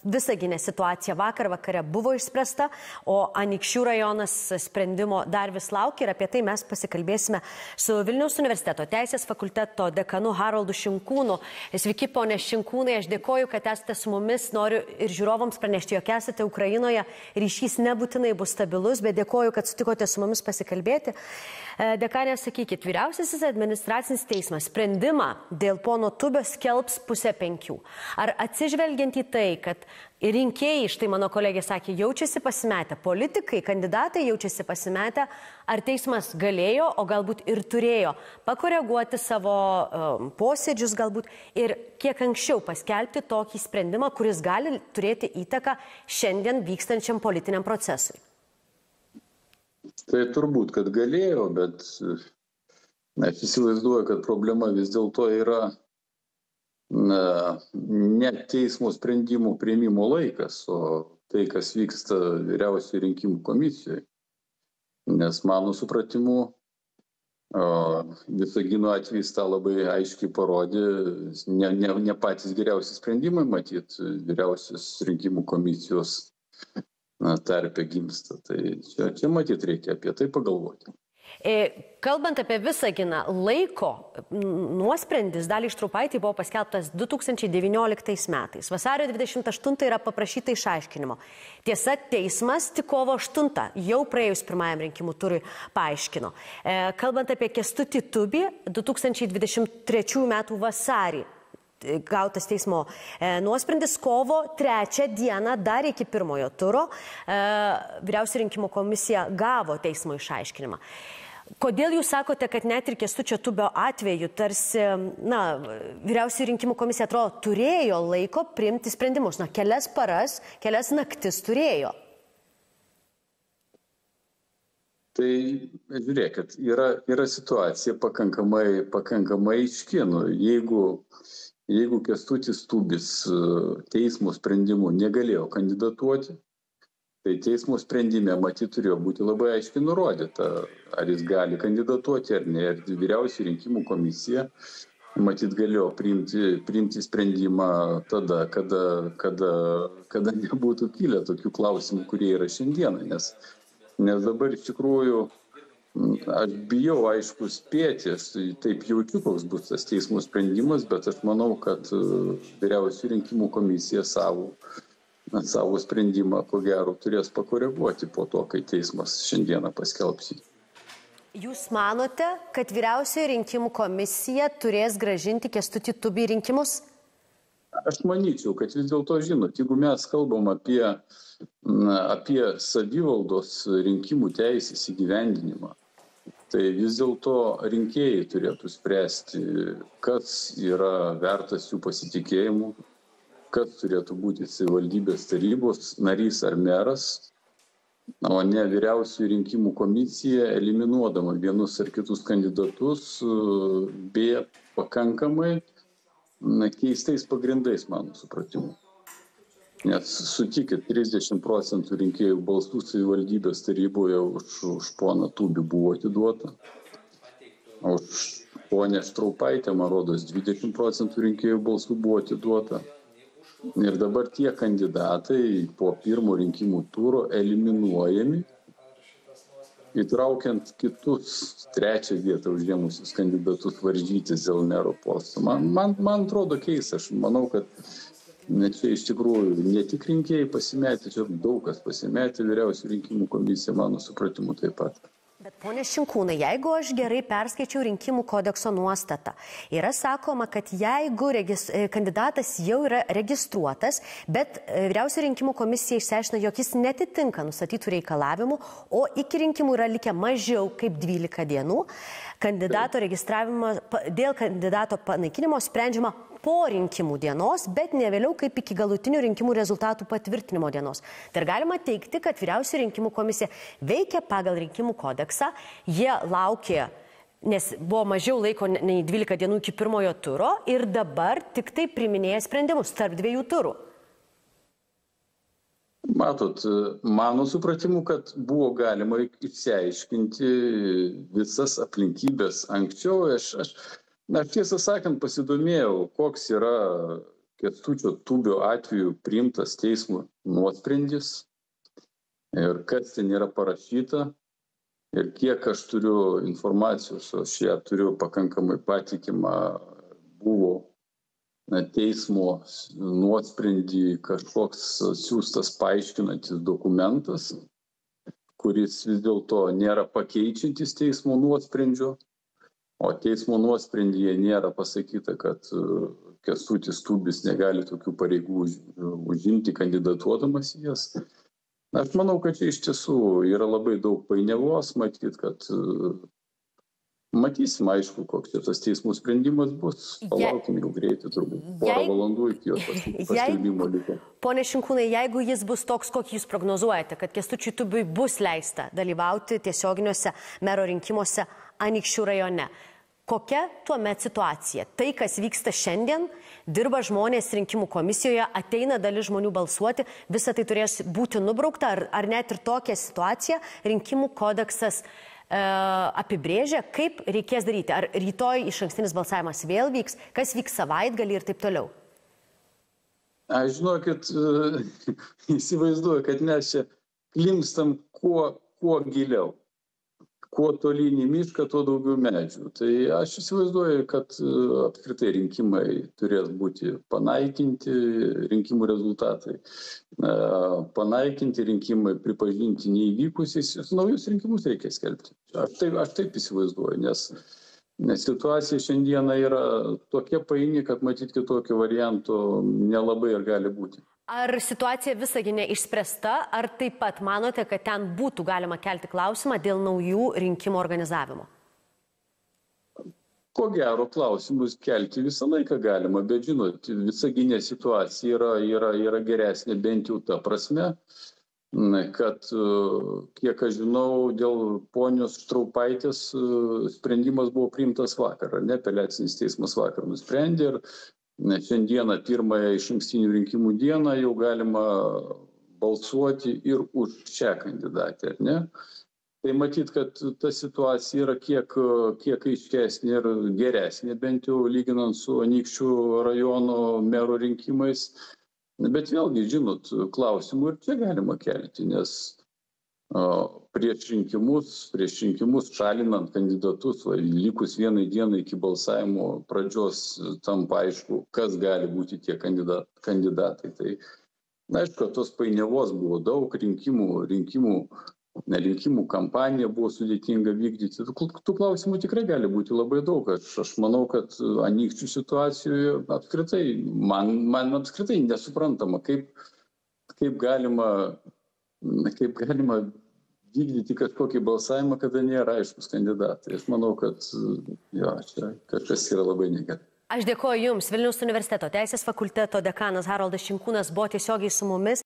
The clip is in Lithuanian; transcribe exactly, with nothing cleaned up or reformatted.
Visagine situacija vakar vakare buvo išspręsta, o Anykščių rajonas sprendimo dar vis laukia ir apie tai mes pasikalbėsime su Vilniaus universiteto teisės fakulteto dekanu Haroldu Šinkūnu. Sveiki, ponė Šinkūnai, aš dėkoju, kad esate su mumis, noriu ir žiūrovams pranešti, jog esate Ukrainoje, ryšys nebūtinai bus stabilus, bet dėkoju, kad sutikote su mumis pasikalbėti. Dekanė, sakykit, vyriausiasis administracinis teismas sprendimą dėl pono Tubio skelbs pusę penkių. Ar atsižvelgiant į tai, kad rinkėjai, štai mano kolegė sakė, jaučiasi pasimetę, politikai, kandidatai jaučiasi pasimetę, ar teismas galėjo, o galbūt ir turėjo pakoreguoti savo um, posėdžius galbūt ir kiek anksčiau paskelbti tokį sprendimą, kuris gali turėti įtaką šiandien vykstančiam politiniam procesui? Tai turbūt, kad galėjo, bet aš įsivaizduoju, kad problema vis dėlto yra na, ne teismo sprendimų priėmimo laikas, o tai, kas vyksta vyriausiojo rinkimų komisijoje. Nes mano supratimu, Visagino atvejis tą labai aiškiai parodė, ne, ne, ne patys geriausi sprendimai, matyt, vyriausios rinkimų komisijos tarpe gimsta. Tai čia, čia matyt reikia apie tai pagalvoti. Kalbant apie Visaginą, laiko nuosprendis Daliai Štraupaitei buvo paskelbtas du tūkstančiai devynioliktais metais. Vasario dvidešimt aštuntą yra paprašyta išaiškinimo. Tiesa, teismas tik kovo aštuntą, jau praėjus pirmajam rinkimų turui, paaiškino. Kalbant apie Kęstutį Tubį, du tūkstančiai dvidešimt trečiųjų metų vasarį gautas teismo e, nuosprendis, kovo trečią dieną, dar iki pirmojo turo, e, vyriausioji rinkimų komisija gavo teismo išaiškinimą. Kodėl jūs sakote, kad net ir Kęstučio Tubio atveju tarsi, na, vyriausioji rinkimų komisija atrodo turėjo laiko priimti sprendimus, na, kelias paras, kelias naktis turėjo? Tai žiūrėkit, yra, yra situacija pakankamai, pakankamai aiški. Nu, jeigu Jeigu Kęstutis Tubis teismo sprendimu negalėjo kandidatuoti, tai teismo sprendime matyt turėjo būti labai aiškiai nurodyta, ar jis gali kandidatuoti ar ne. Ir vyriausioji rinkimų komisija matyt galėjo priimti, priimti sprendimą tada, kada, kada, kada nebūtų kilę tokių klausimų, kurie yra šiandieną. Nes, nes dabar iš tikrųjų aš bijau, aišku, spėti, aš taip jaučiu, koks bus tas teismo sprendimas, bet aš manau, kad vyriausioji rinkimų komisija savo, savo sprendimą, ko gero, turės pakoreguoti po to, kai teismas šiandieną paskelbs. Jūs manote, kad vyriausioji rinkimų komisija turės grąžinti Kęstutį Tubį rinkimus? Aš manyčiau, kad vis dėlto, žinot, jeigu mes kalbam apie, apie savivaldos rinkimų teisės įgyvendinimą, tai vis dėlto rinkėjai turėtų spręsti, kas yra vertas jų pasitikėjimų, kas turėtų būti savivaldybės tarybos narys ar meras, o ne vyriausioji rinkimų komisija, eliminuodama vienus ar kitus kandidatus, be pakankamai na, keistais pagrindais, mano supratimu. Nes sutikit, trisdešimt procentų rinkėjų balsų savivaldybės taryboje už, už poną Tubį buvo atiduota. Už ponę Štraupaitę, man rodos, dvidešimt procentų rinkėjų balsų buvo atiduota. Ir dabar tie kandidatai po pirmo rinkimų turo eliminuojami, įtraukiant kitus trečią vietą užėmusius kandidatus varžytis dėl mero posto. Man, man, man atrodo keista, aš manau, kad čia iš tikrųjų ne tik rinkėjai pasimetė, čia daug kas pasimetė, vyriausioji rinkimų komisija, mano supratimu, taip pat. Bet ponė Šinkūnai, jeigu aš gerai perskaičiau rinkimų kodekso nuostatą, yra sakoma, kad jeigu regis, kandidatas jau yra registruotas, bet vyriausioji rinkimų komisija išsiaiškina, jog jis netitinka nustatytų reikalavimų, o iki rinkimų yra likę mažiau kaip dvylika dienų, kandidato registravimo, dėl kandidato panaikinimo sprendžiama po rinkimų dienos, bet ne vėliau kaip iki galutinių rinkimų rezultatų patvirtinimo dienos. Tai ir galima teikti, kad vyriausioji rinkimų komisija veikia pagal rinkimų kodeksą, jie laukė, nes buvo mažiau laiko nei dvylika dienų iki pirmojo turo ir dabar tik tai priiminėja sprendimus tarp dviejų turų. Matot, mano supratimu, kad buvo galima išsiaiškinti visas aplinkybės anksčiau. Aš, aš, aš tiesą sakant pasidomėjau, koks yra Kęstučio Tubio atveju priimtas teismo nuosprendis ir kas ten yra parašyta ir kiek aš turiu informacijos, aš ją turiu pakankamai patikimą, buvo teismo nuosprendį kažkoks siūstas paaiškinantis dokumentas, kuris vis dėlto nėra pakeičiantis teismo nuosprendžio, o teismo nuosprendyje nėra pasakyta, kad Kęstutis Tubis negali tokių pareigų užimti kandidatuodamas į jas. Aš manau, kad čia iš tiesų yra labai daug painiavos, matyt, kad matysim, aišku, koks čia tas teismų sprendimas bus. Palaukim jau greitai, turbūt porą valandų iki jo paskelbimo liko. Pone Šinkūnai, jeigu jis bus toks, kokį jūs prognozuojate, kad Kęstučiui Tubiui bus leista dalyvauti tiesioginiuose mero rinkimuose Anykščių rajone, kokia tuomet situacija? Tai, kas vyksta šiandien, dirba žmonės rinkimų komisijoje, ateina dalis žmonių balsuoti, visa tai turės būti nubraukta, ar, ar net ir tokią situaciją rinkimų kodeksas e, apibrėžia, kaip reikės daryti. Ar rytoj išankstinis balsavimas vėl vyks, kas vyks savaitgalį ir taip toliau? Aš žinokit, įsivaizduoju, kad mes čia klimstam kuo, kuo giliau. Kuo tolyn į mišką, tuo daugiau medžių. Tai aš įsivaizduoju, kad apskritai rinkimai turės būti panaikinti, rinkimų rezultatai panaikinti, rinkimai pripažinti neįvykusiais, naujus rinkimus reikia skelbti. Aš taip, aš taip įsivaizduoju, nes, nes situacija šiandieną yra tokia paini, kad matyt kitokio varianto nelabai ir gali būti. Ar situacija Visagine išspręsta, ar taip pat manote, kad ten būtų galima kelti klausimą dėl naujų rinkimų organizavimo? Ko gero, klausimus kelti visą laiką galima, bet žinot, Visagine situacija yra, yra, yra geresnė bent jau ta prasme, kad, kiek aš žinau, dėl ponios Štraupaitės sprendimas buvo priimtas vakar, ne, apeliacinis teismas vakar nusprendė ir šiandieną pirmąją išankstinių rinkimų dieną jau galima balsuoti ir už šią kandidatę, ne? Tai matyt, kad ta situacija yra kiek, kiek aiškesnė ir geresnė, bent jau lyginant su Anykščių rajono mero rinkimais. Bet vėlgi, žinot, klausimų ir čia galima kelti, nes prieš rinkimus, prieš rinkimus šalinant kandidatus, va, likus vienai dienai iki balsavimo pradžios tampa aišku, kas gali būti tie kandidat, kandidatai. Tai, na, aišku, tos painiavos buvo daug, rinkimų, rinkimų, ne, rinkimų kampanija buvo sudėtinga vykdyti. Tų, tų klausimų tikrai gali būti labai daug. Aš, aš manau, kad Anykščių situacijoje apskritai, man, man apskritai nesuprantama, kaip, kaip galima, kaip galima vykdyti kažkokį balsavimą, kada nėra aiškus kandidatai. Aš manau, kad jo, čia kažkas yra labai negerai. Aš dėkoju Jums. Vilniaus universiteto teisės fakulteto dekanas Haroldas Šinkūnas buvo tiesiogiai su mumis.